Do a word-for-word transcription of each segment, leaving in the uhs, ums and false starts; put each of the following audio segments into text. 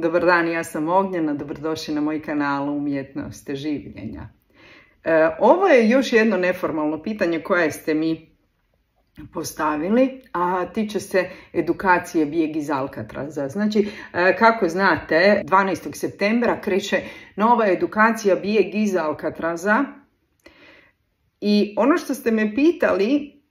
Dobar dan, ja sam Ognjena, dobrodošli na moj kanal Umjetnost življenja. E, ovo je još jedno neformalno pitanje koje ste mi postavili, a tiče se edukacije Bijeg iz Alcatraza. Znači, e, kako znate, dvanaestog septembra kreće nova edukacija Bijeg iz Alcatraza i ono što ste me pitali,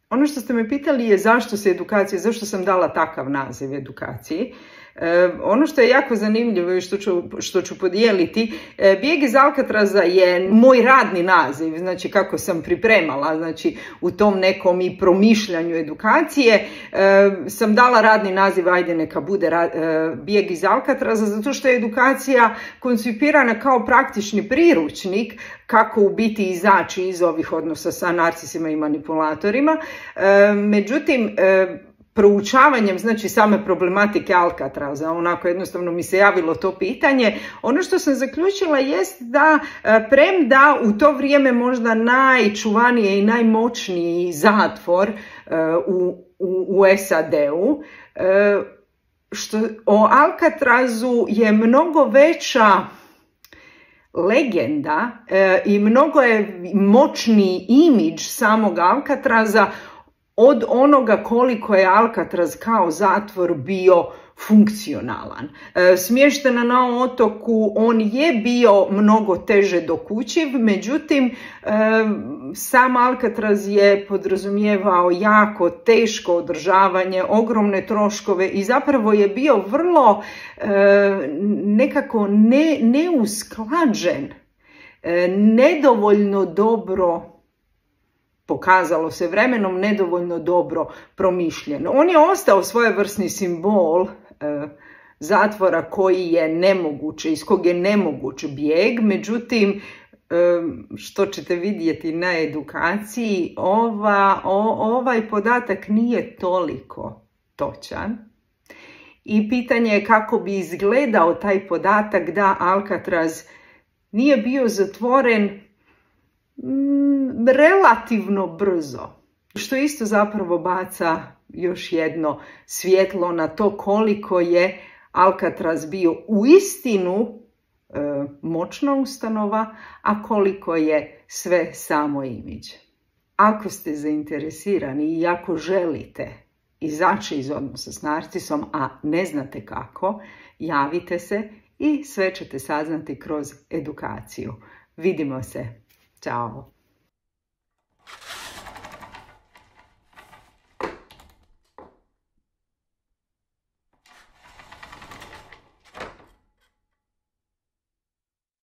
ono što ste me pitali je zašto se edukacija, zašto sam dala takav naziv edukaciji. E, ono što je jako zanimljivo i što ću, što ću podijeliti, e, Bijeg iz Alcatraza je moj radni naziv, znači kako sam pripremala, znači u tom nekom i promišljanju edukacije e, sam dala radni naziv, ajde neka bude ra, e, Bijeg iz Alcatraza, zato što je edukacija koncipirana kao praktični priručnik kako u biti izaći iz ovih odnosa sa narcisima i manipulatorima. E, međutim, e, proučavanjem, znači same problematike Alcatraza, onako jednostavno mi se javilo to pitanje, ono što sam zaključila jest da premda u to vrijeme možda najčuvanije i najmoćniji zatvor u, u, u S A D-u, što o Alcatrazu je mnogo veća legenda i mnogo je moćniji imidž samog Alcatraza od onoga koliko je Alcatraz kao zatvor bio funkcionalan. E, smještena na otoku, on je bio mnogo teže dokučiv, međutim, e, sam Alcatraz je podrazumijevao jako teško održavanje, ogromne troškove i zapravo je bio vrlo e, nekako ne, neusklađen, e, nedovoljno dobro, pokazalo se vremenom, nedovoljno dobro promišljen. On je ostao svojevrsni simbol e, zatvora koji je nemoguće, iz kog je nemoguć bijeg, međutim, e, što ćete vidjeti na edukaciji, ova, o, ovaj podatak nije toliko točan. I pitanje je kako bi izgledao taj podatak da Alcatraz nije bio zatvoren relativno brzo, što isto zapravo baca još jedno svjetlo na to koliko je Alcatraz bio uistinu e, moćna ustanova, a koliko je sve samo imidž. Ako ste zainteresirani i ako želite izaći iz odnosa s narcisom, a ne znate kako, javite se i sve ćete saznati kroz edukaciju. Vidimo se. Ćao.